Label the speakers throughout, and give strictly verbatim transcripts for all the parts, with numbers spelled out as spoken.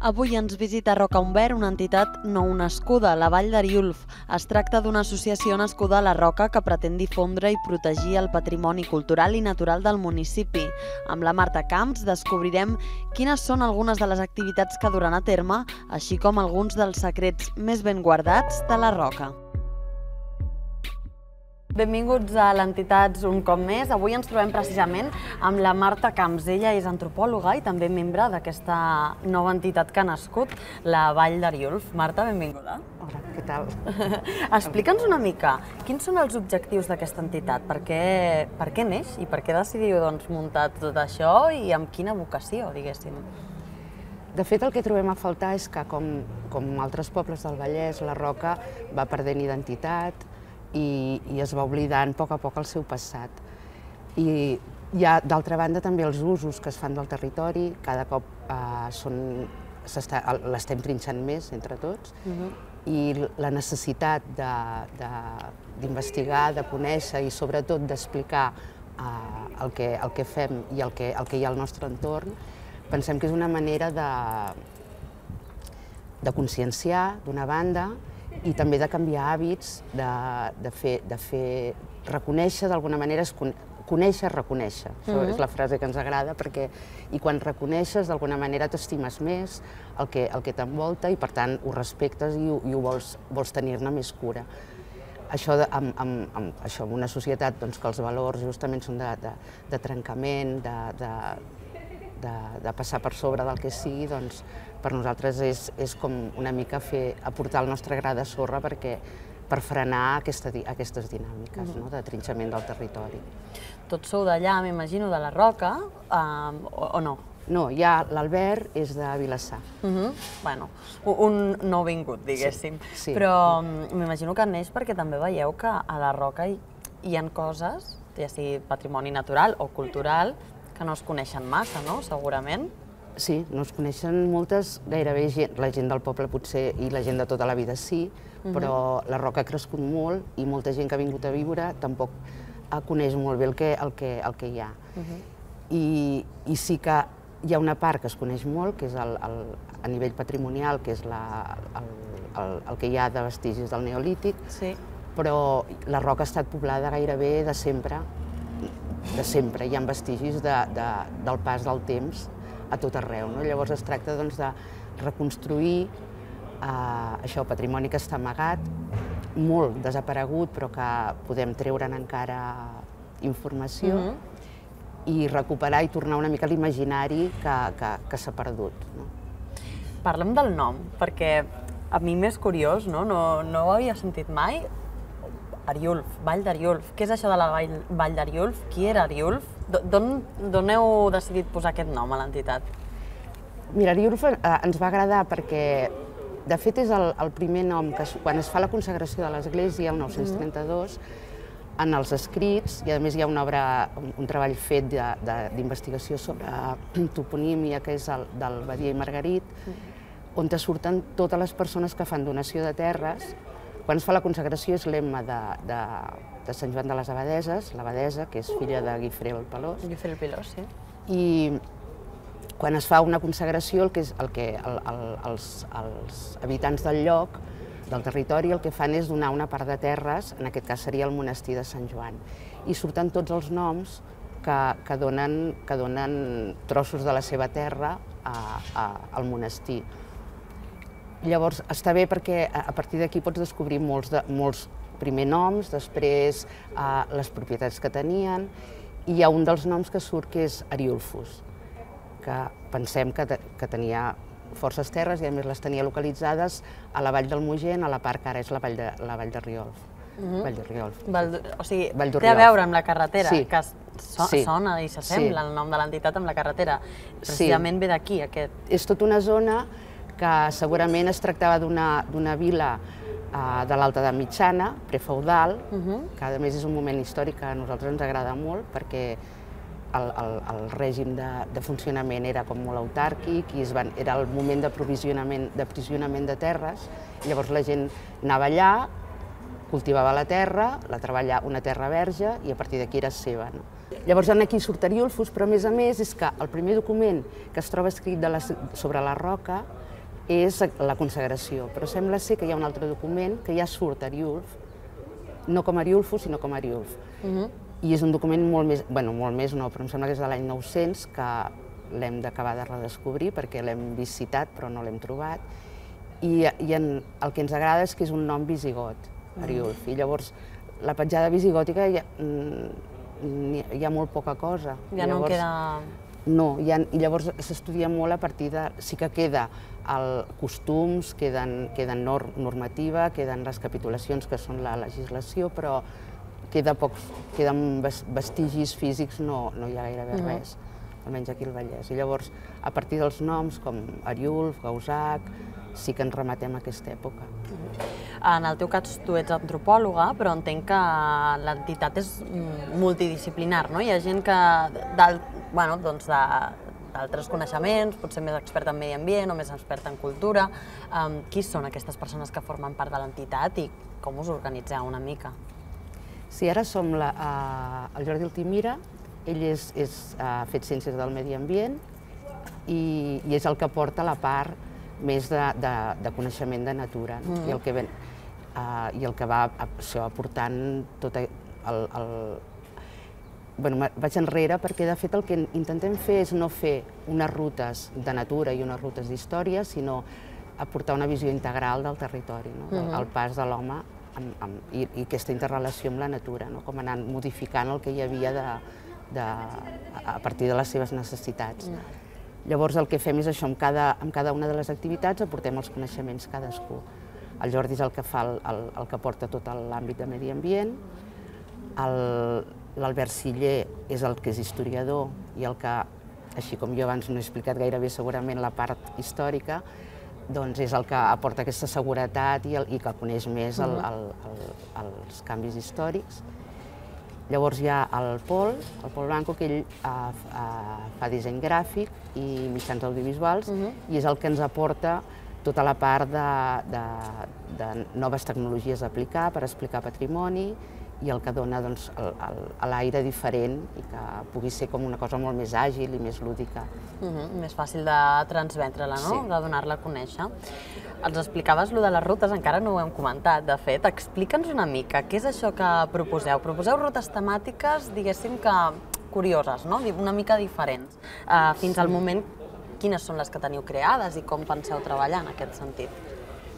Speaker 1: Avui ens visita Roca Umbert, una entitat nou nascuda, la Vall d'Ariülf. Es tracta d'una associació nascuda a la Roca que pretén difondre i protegir el patrimoni cultural i natural del municipi. Amb la Marta Camps descobrirem quines són algunes de les activitats que duran a terme, així com alguns dels secrets més ben guardats de la Roca. Benvinguts a l'Entitats un cop més. Avui ens trobem precisament amb la Marta Camps. Ella és antropòloga i també membre d'aquesta nova entitat que ha nascut, la Vall d'Ariülf. Marta, benvinguda.
Speaker 2: Hola, què tal?
Speaker 1: Explica'ns una mica, quins són els objectius d'aquesta entitat? Per què, per què neix i per què decidiu doncs, muntar tot això i amb quina vocació, diguéssim?
Speaker 2: De fet, el que trobem a faltar és que, com, com altres pobles del Vallès, la Roca va perdent identitat, I, i es va oblidant a poc a poc el seu passat. I hi ha, d'altra banda, també els usos que es fan del territori, cada cop eh, són, l'estem trinxant més entre tots, uh-huh. I la necessitat d'investigar, de, de, de conèixer i sobretot d'explicar eh, el, que, el que fem i el que, el que hi ha al nostre entorn, pensem que és una manera de, de conscienciar, d'una banda, i també de canviar hàbits, de, de, fer, de fer reconèixer d'alguna manera, conèixer, reconèixer. Això uh-huh. és la frase que ens agrada, perquè i quan reconeixes d'alguna manera t'estimes més el que, el que t'envolta i per tant ho respectes i, i ho vols, vols tenir-ne més cura. Això, de, amb, amb, amb, això en una societat doncs, que els valors justament són de, de, de trencament, de, de, de, de passar per sobre del que sigui, doncs per nosaltres és, és com una mica fer, aportar el nostre gra de sorra perquè, per frenar aquesta, aquestes dinàmiques uh-huh. no? De trinxament del territori.
Speaker 1: Tots sou d'allà, m'imagino, de la Roca, um, o, o no?
Speaker 2: No, ja l'Albert és de Vilassar.
Speaker 1: Uh-huh. Bueno, un nouvingut, diguéssim. Sí, sí. Però m'imagino que neix perquè també veieu que a la Roca hi, hi ha coses, ja sigui patrimoni natural o cultural, que no es coneixen massa, no? Segurament.
Speaker 2: Sí, no es coneixen moltes, gairebé gent, la gent del poble potser i la gent de tota la vida sí, uh-huh. però la Roca ha crescut molt i molta gent que ha vingut a viure tampoc coneix molt bé el que, el que, el que hi ha. Uh-huh. I, I sí que hi ha una part que es coneix molt, que és el, el, a nivell patrimonial, que és la, el, el, el que hi ha de vestigis del Neolític,
Speaker 1: sí.
Speaker 2: Però la Roca ha estat poblada gairebé de sempre, de sempre. Hi ha vestigis de, de, del pas del temps a tot arreu. No? Llavors es tracta doncs, de reconstruir eh, això, patrimoni que està amagat, molt desaparegut, però que podem treure'n encara informació mm-hmm. i recuperar i tornar una mica a l'imaginari que, que, que s'ha perdut. No?
Speaker 1: Parlem del nom, perquè a mi m'és curiós, no? No, no ho havia sentit mai. Ariülf, Vall d'Ariülf. Què és això de la Vall, Vall d'Ariülf? Qui era Ariülf? D'on heu decidit posar aquest nom a l'entitat?
Speaker 2: Mira, Ariülf eh, ens va agradar perquè, de fet, és el, el primer nom que, quan es fa la consagració de l'església, el nou-cents trenta-dos, mm-hmm. en els escrits, i a més hi ha una obra, un, un treball fet d'investigació sobre toponímia, que és el del Badia i Margarit, mm-hmm. on te surten totes les persones que fan donació de terres. Quan es fa la consagració és l'emma de, de, de Sant Joan de les Abadeses, l'abadesa, que és filla de Guifré el Pelós.
Speaker 1: Guifré el Pelós, sí.
Speaker 2: I quan es fa una consagració, el que, és, el que el, el, els, els habitants del lloc, del territori, el que fan és donar una part de terres, en aquest cas seria el monestir de Sant Joan. I surten tots els noms que, que, donen, que donen trossos de la seva terra a, a, al monestir. Llavors, està bé perquè a partir d'aquí pots descobrir molts, de, molts primer noms, després eh, les propietats que tenien, i hi ha un dels noms que surt que és Ariülfus, que pensem que, te, que tenia forces terres i a més les tenia localitzades a la Vall del Mogent, a la part que ara és la Vall de, la Vall de Riolf. Uh-huh. Vall de Riolf.
Speaker 1: Val, o sigui,
Speaker 2: Vall
Speaker 1: té a veure amb la carretera,
Speaker 2: sí.
Speaker 1: que so, sí. sona i s'assembla sí. el nom de l'entitat amb la carretera. Precisament sí. ve d'aquí, aquest.
Speaker 2: És tota una zona que segurament es tractava d'una vila eh, de l'Alta Edat Mitjana, prefeudal, uh-huh. que a més és un moment històric que a nosaltres ens agrada molt perquè el, el, el règim de, de funcionament era com molt autàrquic i es van, era el moment d'aprovisionament d'aprovisionament de terres, i llavors la gent anava allà, cultivava la terra, la treballava una terra verge i a partir d'aquí era seva. No? Llavors aquí surt Ariülfus, però a més a més és que el primer document que es troba escrit de la, sobre la Roca és la consagració, però sembla ser que hi ha un altre document que ja surt Ariulf, no com Ariulfo, sinó com Ariulf. I és un document molt més, bueno, molt més no, però em sembla que és de l'any nou-cents, que l'hem d'acabar de redescobrir perquè l'hem vist citat però no l'hem trobat. I, i en, el que ens agrada és que és un nom visigot, Ariulf, i llavors la petjada visigòtica hi ha, hi ha molt poca cosa.
Speaker 1: Ja no en queda...
Speaker 2: No, ha, i llavors s'estudia molt a partir de... Sí que queda el costums, queden, queden nor, normativa, queden les capitulacions que són la legislació, però queda pocs, queden vestigis físics, no, no hi ha gairebé uh -huh. res, almenys aquí al Vallès. I llavors, a partir dels noms com Ariulf, Gausac, sí que ens rematem a aquesta època.
Speaker 1: En el teu cas, tu ets antropòloga, però entenc que l'entitat és multidisciplinar, no? Hi ha gent que, bueno, doncs d'altres coneixements, potser més experta en medi ambient o més experta en cultura. Um, qui són aquestes persones que formen part de l'entitat i com us organitzeu una mica?
Speaker 2: Sí, ara som la, uh, el Jordi Altimira, ell és, és, ha fet Ciències del Medi Ambient i, i és el que porta la part més de, de, de coneixement de natura, no? mm. I, el que ven, uh, i el que va això, aportant tot el... el bueno, vaig enrere perquè de fet el que intentem fer és no fer unes rutes de natura i unes rutes d'història, sinó aportar una visió integral del territori, no? mm -hmm. el pas de l'home i, i aquesta interrelació amb la natura, no? Com anant modificant el que hi havia de, de, a partir de les seves necessitats. Mm. Llavors el que fem és això, amb cada, amb cada una de les activitats aportem els coneixements cadascú. El Jordi és el que fa el, el, el que porta tot l'àmbit de medi ambient, l'Albert Siller és el que és historiador i el que, així com jo abans no he explicat gaire bé segurament la part històrica, doncs és el que aporta aquesta seguretat i, el, i que coneix més el, el, el, els canvis històrics. Llavors hi ha el Pol, el Pol Blanco, que ell uh, uh, fa disseny gràfic i mitjans audiovisuals uh-huh. i és el que ens aporta tota la part de, de, de noves tecnologies a aplicar per explicar patrimoni i el que dona doncs, l'aire diferent i que pugui ser com una cosa molt més àgil i més lúdica.
Speaker 1: Uh-huh, més fàcil de transmetre-la, no? Sí. De donar-la a conèixer. Ens explicaves allò de les rutes, encara no ho hem comentat, de fet. Explica'ns una mica, què és això que proposeu? Proposeu rutes temàtiques, diguéssim que curioses, no? Una mica diferents. Uh, fins sí. al moment, quines són les que teniu creades i com penseu treballar en aquest sentit?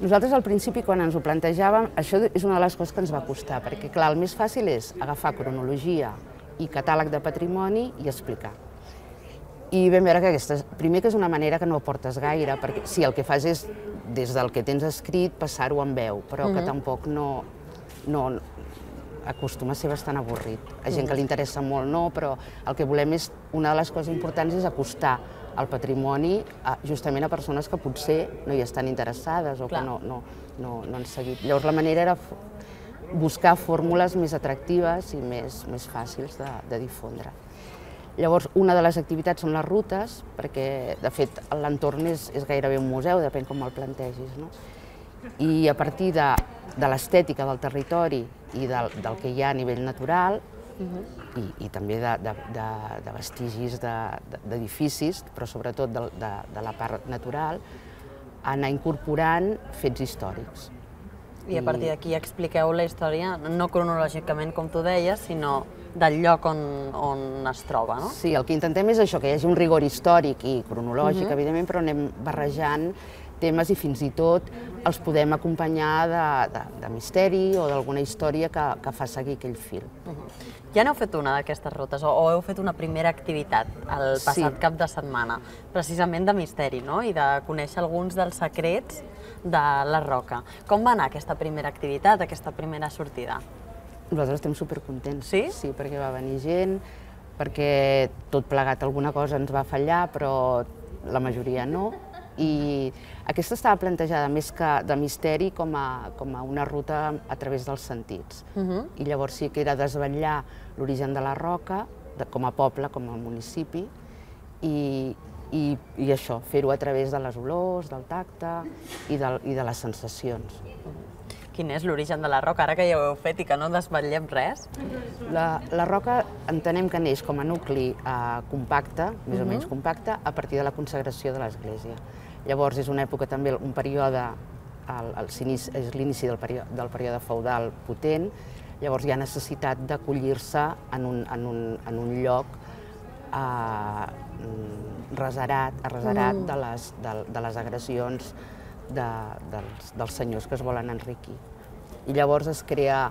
Speaker 2: Nosaltres al principi, quan ens ho plantejàvem, això és una de les coses que ens va costar, perquè clar, el més fàcil és agafar cronologia i catàleg de patrimoni i explicar. I vam veure que aquesta, primer que és una manera que no aportes gaire, perquè si el que fas és, des del que tens escrit, passar-ho en veu, però uh-huh. que tampoc no, no acostuma a ser bastant avorrit. A gent uh-huh. que li interessa molt no, però el que volem és, una de les coses importants és acostar el patrimoni a, justament a persones que potser no hi estan interessades o Clar. que no, no, no, no han seguit. Llavors la manera era buscar fórmules més atractives i més, més fàcils de, de difondre. Llavors una de les activitats són les rutes, perquè de fet l'entorn és, és gairebé un museu, depèn com el plantegis. No? I a partir de, de l'estètica del territori i del, del que hi ha a nivell natural, Uh-huh. I, i també de, de, de, de vestigis d'edificis, de, però sobretot de, de, de la part natural, anar incorporant fets històrics.
Speaker 1: I a partir d'aquí expliqueu la història, no cronològicament com tu deies, sinó del lloc on, on es troba, no?
Speaker 2: Sí, el que intentem és això, que hi hagi un rigor històric i cronològic, uh-huh. evidentment, però anem barrejant temes i fins i tot els podem acompanyar de, de, de misteri o d'alguna història que, que fa seguir aquell fil.
Speaker 1: Uh-huh. Ja n'heu fet una d'aquestes rutes, o, o heu fet una primera activitat el passat sí. cap de setmana, precisament de misteri, no? I de conèixer alguns dels secrets de la Roca. Com va anar aquesta primera activitat, aquesta primera sortida?
Speaker 2: Nosaltres estem supercontents.
Speaker 1: Sí?
Speaker 2: Sí, perquè va venir gent, perquè tot plegat alguna cosa ens va fallar, però la majoria no. I aquesta estava plantejada més que de misteri com a, com a una ruta a través dels sentits. Uh-huh. I llavors sí que era desvetllar l'origen de la Roca, de, com a poble, com a municipi, i, i, i això, fer-ho a través de les olors, del tacte i de, i de les sensacions.
Speaker 1: Uh-huh. quin és l'origen de la roca, ara que ja ho heu fet i que no desvetllem res?
Speaker 2: La, la roca entenem que neix com a nucli eh, compacte, més uh-huh. o menys compacte, a partir de la consagració de l'església. Llavors és una època també, un període, el, el, és l'inici del, període, del període feudal potent, llavors hi ha necessitat d'acollir-se en, un, en, un, en un lloc eh, reserat, reserat mm. de, les, de, de les agressions de, dels, dels senyors que es volen enriquir. I llavors es crea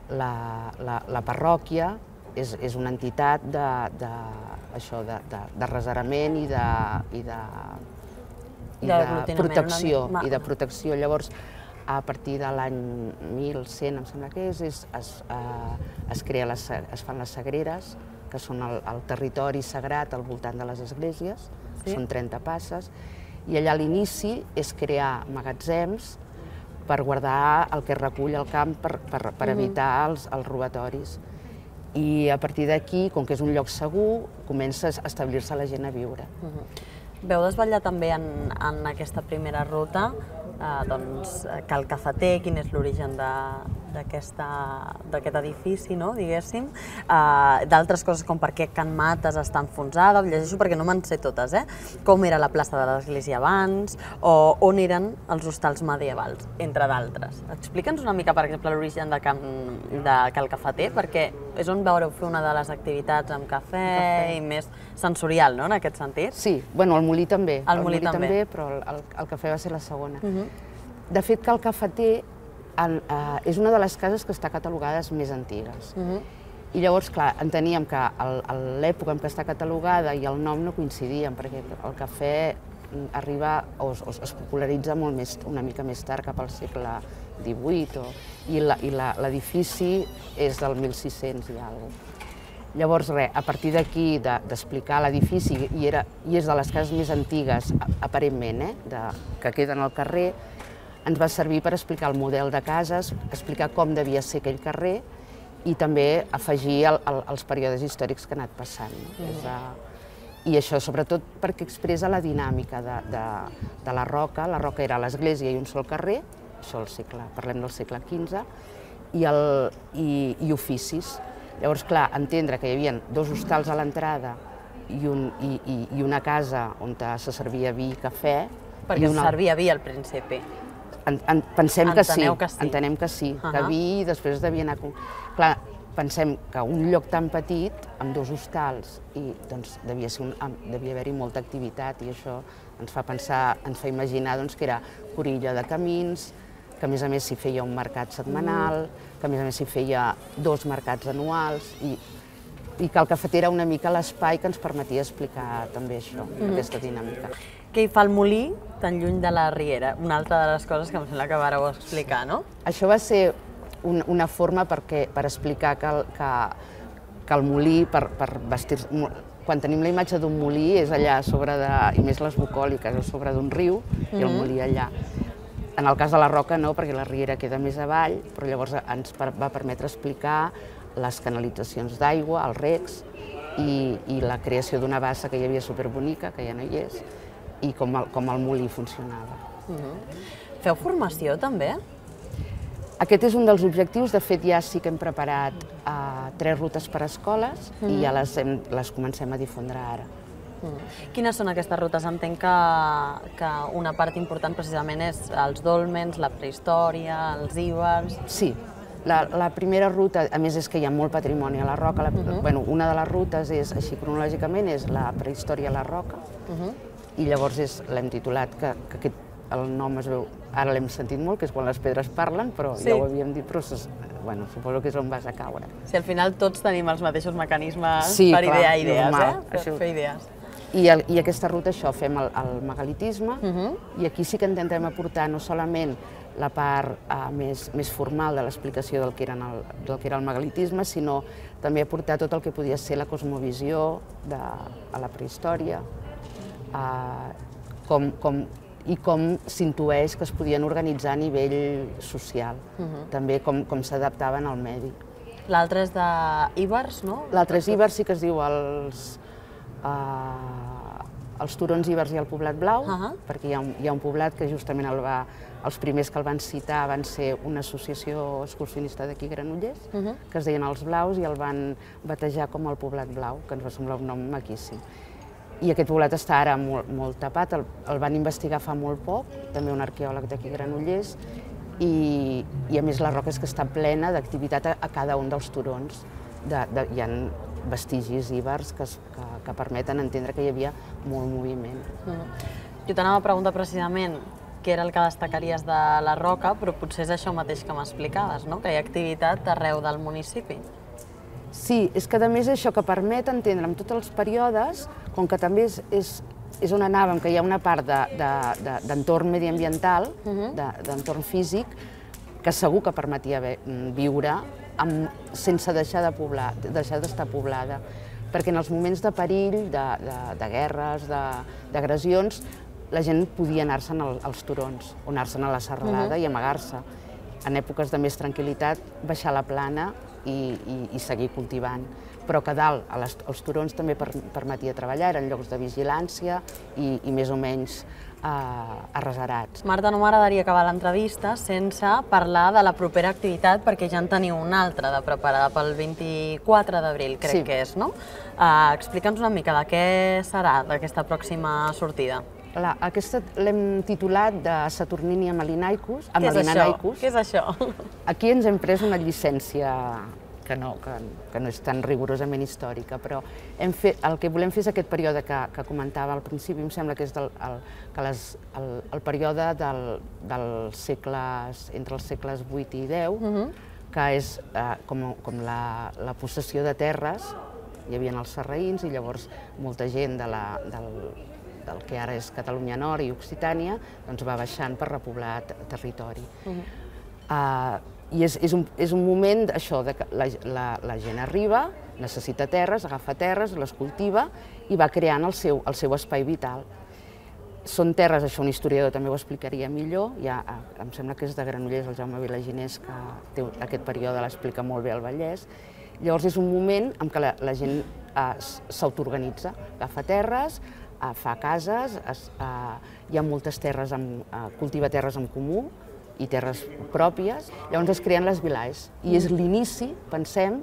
Speaker 2: la, la, la parròquia, és, és una entitat de, de, això, de, de, de reserament i de, i de, i de protecció. I de protecció. Llavors, a partir de l'any mil cent, em sembla que és, és es, eh, es, crea les, es fan les sagreres, que són el, el territori sagrat al voltant de les esglésies, sí. Són trenta passes, i allà a l'inici és crear magatzems per guardar el que recull el camp per, per, per evitar els, els robatoris. I a partir d'aquí, com que és un lloc segur, comença a establir-se la gent a viure.
Speaker 1: Uh-huh. Veu desvetllar també en, en aquesta primera ruta eh, doncs, Cal Cafeter, quin és l'origen d'aquest edifici, no, diguéssim, eh, d'altres coses com per què Can Mates està enfonsada, ho llegeixo perquè no me'n sé totes, eh? Com era la plaça de l'església abans, o on eren els hostals medievals, entre d'altres. Explica'ns una mica, per exemple, l'origen de, Can, de Cal Cafeter, perquè és on veureu fer una de les activitats amb cafè, cafè. i més sensorial, no?, en aquest sentit?
Speaker 2: Sí, bueno, el molí també,
Speaker 1: el, el molí, molí també.
Speaker 2: també, però el, el, el cafè va ser la segona. Uh-huh. De fet, Cal Cafeter en, uh, és una de les cases que està catalogades més antigues. Uh-huh. I llavors, clar, enteníem que l'època en què està catalogada i el nom no coincidien, perquè el cafè arriba o, o es popularitza molt més, una mica més tard, cap al segle divuit, o, i l'edifici és del mil sis-cents i alguna cosa. Llavors, res, a partir d'aquí, d'explicar l'edifici, i, era, i és de les cases més antigues, aparentment, eh, de, que queden al carrer, ens va servir per explicar el model de cases, explicar com devia ser aquell carrer i també afegir el, el, els períodes històrics que ha anat passant. No? Mm. És, uh, I això, sobretot, perquè expressa la dinàmica de, de, de la Roca. La Roca era l'església i un sol carrer, això el segle, parlem del segle quinze, i, el, i, i oficis. Llavors, clar, entendre que hi havia dos hostals a l'entrada i, un, i, i, i una casa on se servia vi i cafè.
Speaker 1: Perquè
Speaker 2: una...
Speaker 1: es servia vi al principi.
Speaker 2: En, en, pensem que sí,
Speaker 1: que sí,
Speaker 2: entenem que sí, uh-huh. que vi i després devia anar... Clar, pensem que un lloc tan petit, amb dos hostals, i doncs devia, ser un, devia haver-hi molta activitat, i això ens fa pensar, ens fa imaginar doncs, que era corilla de camins, que a més a més s'hi feia un mercat setmanal, que a més a més s'hi feia dos mercats anuals, i, i que el cafeter era una mica l'espai que ens permetia explicar també això, mm-hmm. aquesta dinàmica.
Speaker 1: Què hi fa el molí tan lluny de la riera? Una altra de les coses que em sembla que vareu explicar, no?
Speaker 2: Això va ser un, una forma perquè, per explicar que el, que, que el molí, per, per vestir... Quan tenim la imatge d'un molí és allà a sobre de, i més les bucòliques, a sobre d'un riu, mm-hmm. i el molí allà. En el cas de la Roca no, perquè la riera queda més avall, però llavors ens va permetre explicar les canalitzacions d'aigua, els recs, i, i la creació d'una bassa que hi havia superbonica, que ja no hi és, i com el, com el molí funcionava.
Speaker 1: Uh-huh. Feu formació també?
Speaker 2: Aquest és un dels objectius. De fet, ja sí que hem preparat uh, tres rutes per a escoles uh-huh. i ja les, hem, les comencem a difondre ara.
Speaker 1: Quines són aquestes rutes? Entenc que, que una part important precisament és els dòlmens, la prehistòria, els íbers...
Speaker 2: Sí, la, la primera ruta, a més és que hi ha molt patrimoni a la Roca, la, uh-huh. bueno, una de les rutes és, així cronològicament, és la prehistòria a la Roca, uh-huh. i llavors l'hem titulat, que, que aquest, el nom es veu, ara l'hem sentit molt, que és quan les pedres parlen, però sí. ja ho havíem dit, però bueno, suposo que és on vas a caure.
Speaker 1: Si al final tots tenim els mateixos mecanismes
Speaker 2: sí,
Speaker 1: per
Speaker 2: clar,
Speaker 1: idear idees,
Speaker 2: normal,
Speaker 1: eh? Per fer idees.
Speaker 2: I, el, I aquesta ruta, això, fem el, el megalitisme, uh-huh. i aquí sí que intentem aportar no solament la part uh, més, més formal de l'explicació del, que eren el, del que era el megalitisme, sinó també aportar tot el que podia ser la cosmovisió de, a la prehistòria, uh, com, com, i com s'intueix que es podien organitzar a nivell social, uh-huh. també com, com s'adaptaven al medi.
Speaker 1: L'altre és d'íbers, no?
Speaker 2: L'altre és íbers, sí que es diu els... Uh, els turons ibers i el poblat blau,
Speaker 1: uh -huh.
Speaker 2: perquè hi ha, un, hi ha un poblat que justament el va, els primers que el van citar van ser una associació excursionista d'aquí, Granollers, uh -huh. que es deien els Blaus, i el van batejar com el poblat blau, que ens va semblar un nom maquíssim. I aquest poblat està ara molt, molt tapat, el, el van investigar fa molt poc, també un arqueòleg d'aquí, Granollers, i, i a més la roca és que està plena d'activitat a, a cada un dels turons. De, de, hi ha vestigis ibers que, que, que permeten entendre que hi havia molt moviment.
Speaker 1: Mm. Jo t'anava a preguntar precisament què era el que destacaries de la roca, però potser és això mateix que m'explicaves, no? Que hi ha activitat arreu del municipi.
Speaker 2: Sí, és que a més això que permet entendre en tots els períodes, com que també és, és, és on anàvem, que hi ha una part d'entorn de, de, mediambiental, uh-huh. d'entorn físic, que segur que permetia viure amb, sense deixar de poblar, deixar d'estar poblada. Perquè en els moments de perill, de, de, de guerres, d'agressions, la gent podia anar-se'n als turons, o anar-se'n a la serralada uh-huh. i amagar-se. En èpoques de més tranquil·litat, baixar a la plana i, i, i seguir cultivant. Però que dalt, a les, als turons també per, permetia treballar, eren llocs de vigilància i, i més o menys arreserats.
Speaker 1: Marta, no m'agradaria acabar l'entrevista sense parlar de la propera activitat, perquè ja en teniu una altra de preparada pel vint-i-quatre d'abril, crec sí. que és, no? Uh, Explica'ns una mica de què serà d'aquesta pròxima sortida.
Speaker 2: La, aquesta l'hem titulat de Saturnini Amalinaicus.
Speaker 1: Què és això? Què és això?
Speaker 2: Aquí ens hem pres una llicència que no, que, que no és tan rigorosament històrica, però hem fet, el que volem fer és aquest període que, que comentava al principi, em sembla que és del, el, que les, el, el període del, dels segles, entre els segles vuit i deu, uh-huh. que és eh, com, com la, la possessió de terres, hi havia els sarraïns i llavors molta gent de la, del, del que ara és Catalunya Nord i Occitània doncs va baixant per repoblar territori. Uh-huh. uh, I és, és, un, és un moment això, de que la, la, la gent arriba, necessita terres, agafa terres, les cultiva i va creant el seu, el seu espai vital. Són terres, això un historiador també ho explicaria millor, ja, em sembla que és de Granollers, el Jaume Vilaginés, que té aquest període l'explica molt bé al Vallès. Llavors és un moment en què la, la gent eh, s'autoorganitza, agafa terres, eh, fa cases, es, eh, hi ha moltes terres, amb, eh, cultiva terres en comú, i terres pròpies, llavors es creen les vilais. I és l'inici, pensem,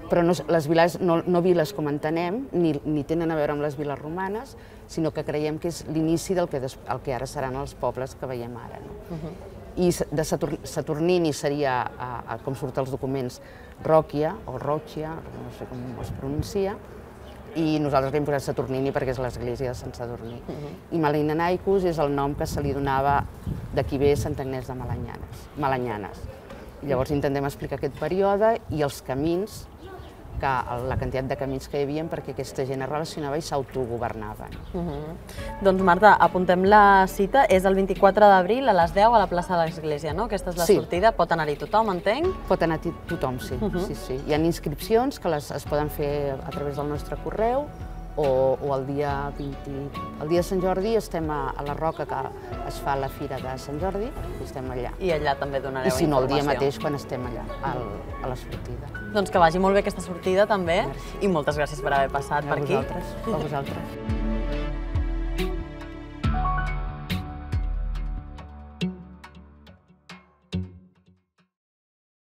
Speaker 2: però no, les vilais, no, no viles com entenem, ni, ni tenen a veure amb les viles romanes, sinó que creiem que és l'inici del que, des, el que ara seran els pobles que veiem ara. No? Uh-huh. I de Satur, Saturnini seria, a, a, com surt als documents, Ròquia, o Ròquia, no sé com es pronuncia, i nosaltres li hem posat Saturnini perquè és l'església de Sant Sadurní. Uh-huh. I Amalinaicus és el nom que se li donava d'aquí ve Sant Agnès de Malanyanes. Malanyanes. I llavors intentem explicar aquest període i els camins, que, la quantitat de camins que hi havia perquè aquesta gent es relacionava i s'autogovernava.
Speaker 1: Uh-huh. Doncs Marta, apuntem la cita, és el vint-i-quatre d'abril a les deu a la plaça de l'Església, no? Aquesta és la sí. sortida, pot anar-hi tothom, entenc?
Speaker 2: Pot anar-hi tothom, sí. Uh-huh. sí, sí. Hi ha inscripcions que les, es poden fer a través del nostre correu o, o el dia vint... El dia de Sant Jordi estem a, a la Roca, que es fa la Fira de Sant Jordi, i estem allà.
Speaker 1: I allà també donareu informació.
Speaker 2: I si no, el dia mateix quan estem allà, al, a la sortida.
Speaker 1: Doncs que vagi molt bé aquesta sortida també. Merci. I moltes gràcies per haver passat
Speaker 2: a
Speaker 1: per aquí.
Speaker 2: A vosaltres. A vosaltres.